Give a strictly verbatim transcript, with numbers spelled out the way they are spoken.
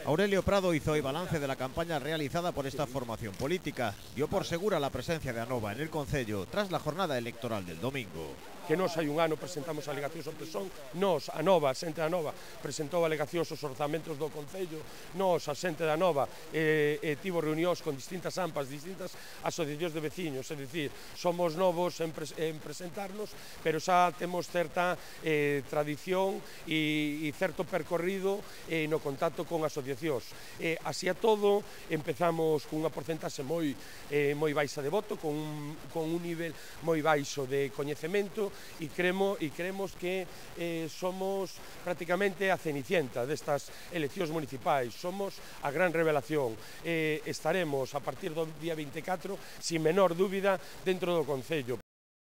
Aurelio Prado hizo hoy balance de la campaña realizada por esta formación política. Dio por segura la presencia de Anova en el concello tras la jornada electoral del domingo. Que nos hai un ano presentamos alegacións ao Presón, nos, a Nova, a xente da Nova, presentou alegacións aos orzamentos do Concello, nos, a xente da Nova, eh, eh, tivo reunións con distintas AMPAs, distintas asociacións de veciños, é dicir, somos novos en, pres en presentarnos, pero xa temos certa eh, tradición e, e certo percorrido eh, no contacto con asociacións. Eh, así a todo, empezamos cunha porcentaxe moi, eh, moi baixa de voto, con un, con un nivel moi baixo de coñecemento, e creemos, e creemos que eh, somos prácticamente a cenicienta destas eleccións municipais, somos a gran revelación. Eh, estaremos a partir do día vinte e catro, sin menor dúbida, dentro do Concello.